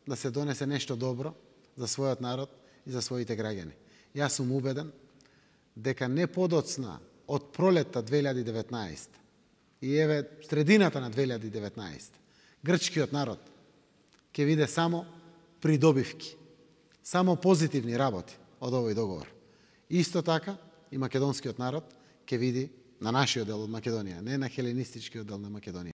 да се донесе нешто добро за својот народ и за своите граѓани. Јас сум убеден дека не подоцна од пролетта 2019 и еве средината на 2019 грчкиот народ ќе види само придобивки, само позитивни работи од овој договор. Исто така и македонскиот народ ќе види на нашиот дел од Македонија, не на хеленистичкиот дел на Македонија.